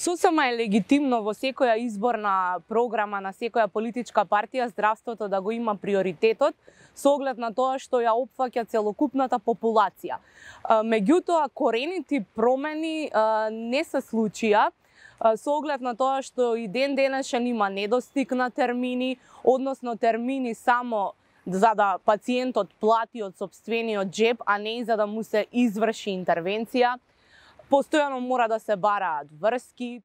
Сосема е легитимно во секоја изборна програма на секоја политичка партија здравството да го има приоритетот со оглед на тоа што ја опфаќа целокупната популација. Меѓутоа, корените промени не се случија со оглед на тоа што и ден денешен има недостиг на термини, односно термини само за да пациентот плати од сопствениот џеб, а не и за да му се изврши интервенција. Постојано мора да се бараат врски.